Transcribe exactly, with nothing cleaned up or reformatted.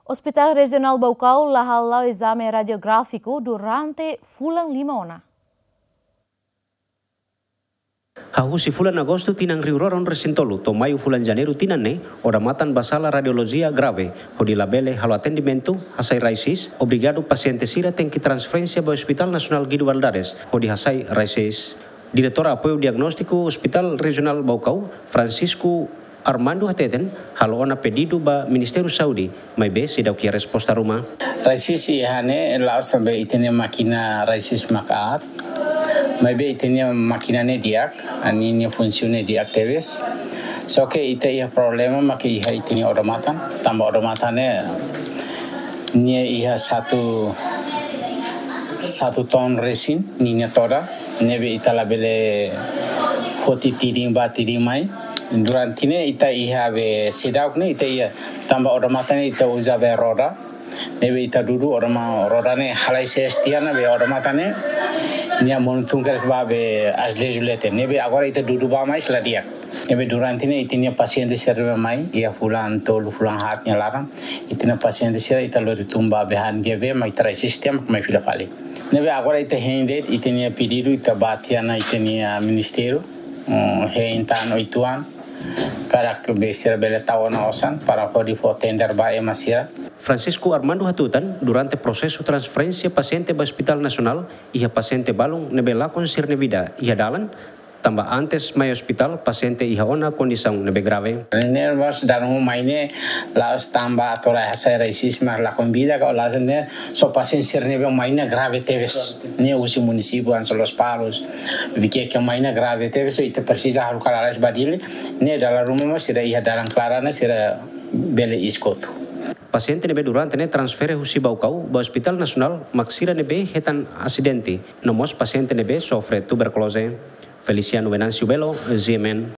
Hospital Rejionál Baucau la hala'o ezame radiográfiku durante fulan lima ona. Hahú husi fulan Agostu tinan rihun rua ruanulu-resin-tolu to'o Maiu fulan Janeiru tinan ne'e, odamatan ba sala radiolojia grave, hodi labele halo atendimentu, hasai raisis, obrigadu pasiente sira tenke transferénsia ba Hospital Nasionál Guido Valadares, hodi hasai raisis. Diretór Apoiu Diagnóstiku Hospital Rejionál Baucau, Francisco Armando hateten, halo ona pedidu ba Ministériu Saúde, maibé seidauk iha resposta ruma. Raisis iha ne'e la'ós tanba ita-nia mákina raisis mak aat, maibé ita-nia mákina ne'e di'ak, ninia funsiona di'ak tebes. Só ke ita iha problema mak iha ita-nia odamatan, tanba odamatan ne'e nia iha satu, satu ton resin ninia todan, ne'ebé ita labele foti tidin bá tidin mai. Durante ne'e ita iha be seidauk ne'e ita iha, tanba odamatan ne'e ita uza be roda. Ne'ebé ita dudu odama-, roda ne'e halai sees tiha ona be odamatan ne'e nia monu tun kedas bá be azuleju leten. Ne'ebé agora ita dudu bá mais la di'ak. Ne'ebé durante ne'e ita-nia pasiente sira mai iha fulan tolu fulan haat nia laran. Ita-nia pasiente sira ita lori tun bá be han dia be mai trai sistema mai fila fali. Ne'ebé agora ita hein de'it ita-nia pedidu ita bá tiha ona ita-nia ministériu, mm, hein tan oituan. Karik be sira bele tau ona osan para hodi fó tender ba ema sira. Francisco Armando hatutan, durante prosesu transferénsia pasiente ba Hospital Nasionál, iha pasiente balun ne'ebé lakon sira-nia vida iha dalan, tanba antes mai hospital pasiente iha ona kondisaun ne'ebé grave. Ne'e mós dalan mai ne'e la'ós tanba atu rai hasai raisis mak lakon vida ka la'ós ne'e, só pasiente sira ne'ebé mai ne'e grave tebes. Ne'e husi munisípiu hanesan Lospalos, Viqueque mai ne'e grave tebes, ita presiza halo kalaras ba Dili, ne'e dala ruma mós sira iha dalan klaran ne'e sira bele iha kotuk. Pasiente ne'ebé durante ne'e transfere husi Baucau ba Hospital Nasionál mak sira ne'ebé hetan asidente, no mós pasiente ne'ebé sofre tuberkuloze. Feliciano Venâncio Belo, G M N.